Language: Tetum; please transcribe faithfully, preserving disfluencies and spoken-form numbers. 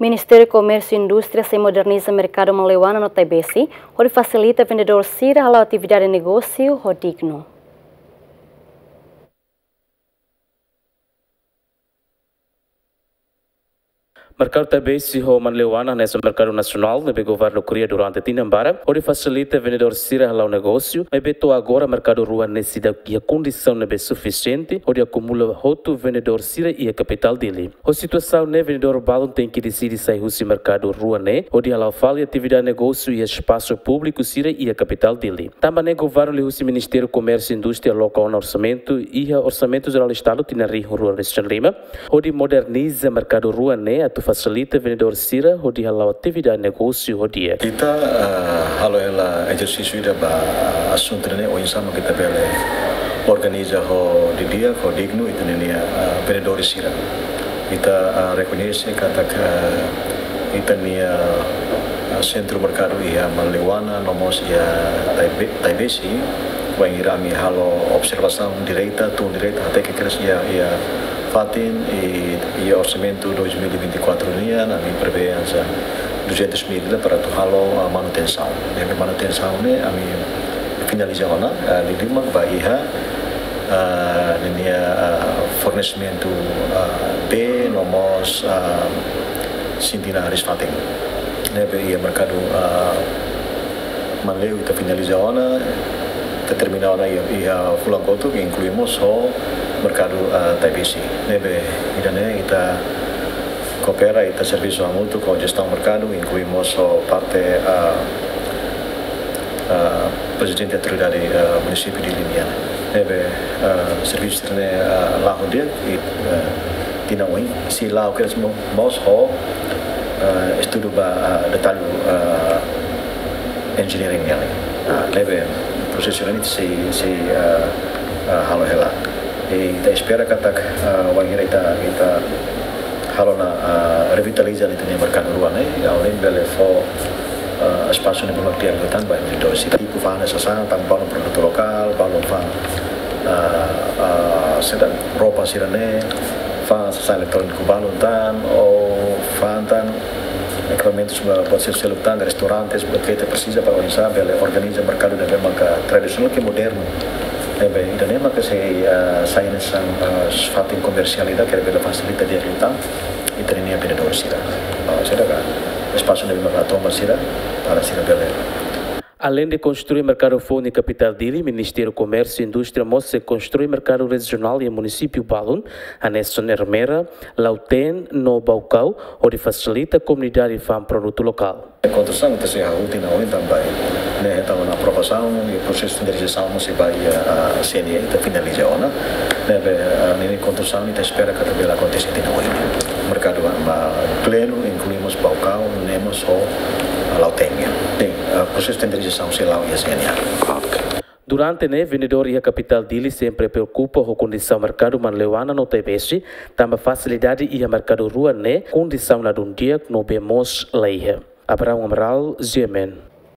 Ministériu Komérsiu Indústria sei moderniza merkadu Manleuana no Taibesi, hodi fasilita vendedór sira hala'o atividade negósiu ho dignu. Merkadu Taibesi ho Manleuana hanesan merkadu nasionál ne'ebé governu kria durante tinan barak, hodi fasilita vendedór sira hala'o negósiu, maibé to'o agora merkadu rua ne'e seidauk iha kondisaun ne'ebé sufisiente, hodi akumula hotu vendedór sira iha kapitál Dili. Ho situasaun ne'e vendedór balun tenke deside sai husi merkadu rua ne'e, hodi hala'o fali atividade negósiu iha espasu públiku sira iha kapitál Dili. Tanba ne'e governu liuhusi Ministériu Komérsiu Indústria loka ona orsamentu iha Orsamentu Jerál Estadu tinan rihun rua resin lima, hodi moderniza merkadu rua ne'e atu fasilita vendedór sira hodi hala'o atividade negósiu ho di'ak. Ita, ah, halo hela ezersísiu ida ba asuntu ne'e, oinsá mak ita bele organiza ho di'ak, ho dignu ita-nia, ah, vendedór sira. Ita, ah, rekoñese katak, ah, ita-nia, ah, sentru merkadu iha Manleuana, no mós iha Taibe-, Taibesi, wainhira ami halo observasaun direta, tun direta, hateke kedas iha, iha fatin, i, iha orsamentu dois mil e vinte e quatro nian, ami prevee hanesan duzentos mil para atu halo, ah, manutensaun. Ne'ebé manutensaun ne'e ami finaliza ona, ah, liuliu mak ba iha, ah, ninia, ah, fornesimentu, ah, bee no mós, ah, sintina hariis-fatin. Ne'ebé iha merkadu, ah, Manleu ita finaliza ona, ita termina ona iha, iha fulan kotuk, inklui mós ho merkadu, ah, Taibesi. Ne'ebé ida-ne'e ita koopera, ita servisu hamutuk ho jestaun merkadu, inklui mós ho parte, ah, ah, Prezidente Autoridade, ah, Munisípiu Dili nian. Ne'ebé, ah, servisu ne'e, ah, la'o di'ak, i, ah, tinan oin, sei la'o kedas mo-, mós ho, ah, estudu ba, ah, detallu, ah, engineering nian. Ah, ne'ebé prosesu ne'e sei, sei, ah, ah, halo hela. I ita espera katak, ah, wainhira ita, ita halo ona, ah, revitaliza ita-nia merkadu rua ne'e, ha'u hanoin bele fó, ah, espasu ne'ebé mak di'ak liután ba vendedór sira. Tipu fa'an sasán, tan balun produtu lokál, balun fa'an, ah, ah, saida, roupa sira-ne'e, fa'an sasán eletróniku balun tan, ou fa'an tan ekipamentus ba, ba selu-seluk tan, restaurantes, buat ke ita presiza para oinsá bele organiza merkadu ne'ebé maka tradisionál ke modernu. Ne'ebé ida-ne'e maka sei, ah, sai hanesan, ah, fatin komersiál ida ke bele fasilita di'ak liután ita-nia vendedór sira. Ah, saida ka espasu ne'ebé maka toma sira para sira bele. Aleinde konstrui merkadu foun iha kapitál Dili, Ministériu Komérsiu Indústria mós sei konstrui merkadu rejionál iha munisípiu balun, hanesan Ermera, Lautém no Baucau, hodi fasilita komunidade fa'an produtu lokál. Konstrusaun ita sei hahú tinan oin tan ba, ne'e hetan ona aprovasaun, i prosesu tenderizasaun mós sei ba iha, ah, C N E, ita finaliza ona. Ne'ebé, ah, ninia konstrusaun ita espera katak bele akontese tinan oin. Merkadu, ah, plenu, inklui mós Baucau, ne'e mós ho, ah, Lautém. Sin, ah, prosesu tenderizasaun sei la'o iha C N E. Ok. Durante ne'e, vendedór iha kapitál Dili sempre preokupa ho kondisaun merkadu Manleuana no Taibesi, tanba fasilidade iha merkadu rua ne'e kondisaun ladún di'ak no bee mós la iha. Abraham Amaral, G M N.